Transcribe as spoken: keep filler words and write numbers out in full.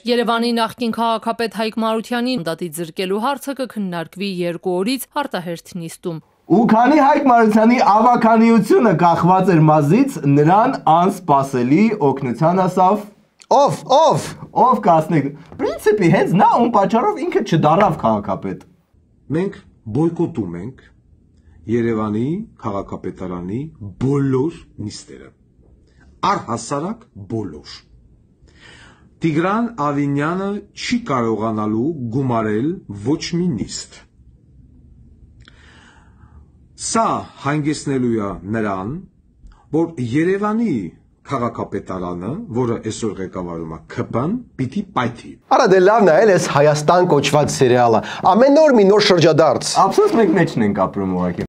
Երևանի նախկին քաղաքապետ Հայկ Մարությանի մանդատից զրկելու հարցը կքննարկվի երկու օրից արտահերթ նիստում։ Ու քանի Հայկ Մարությանի ավականիությունը կախված էր մազից, նրան անսպասելի օգնության ասավ Ով, ով, ով կասնեք։ Պրինցիպի հենց նա ում պատճառով ինքը չդարավ քաղաքապետ։ Մենք բոյկոտում ենք Երևանի քաղաքապետարանի բոլոր նիստերը։ Առհասարակ բոլոր։ Տիգրան Ավինյանը չի կարողանալու գումարել ոչ մի նիստ։ Սա հանգեցնելու է նրան, որ Երևանի քաղաքապետարանը, որը այսօր ղեկավարում է K P-ն, պիտի պայթի։ Արա դե լավ նայել ես Հայաստան կոչված սերիալը։ Ամեն օր մի նոր շրջադարձ։ Ափսոս մենք մեջն ենք ապրում ուղղակի։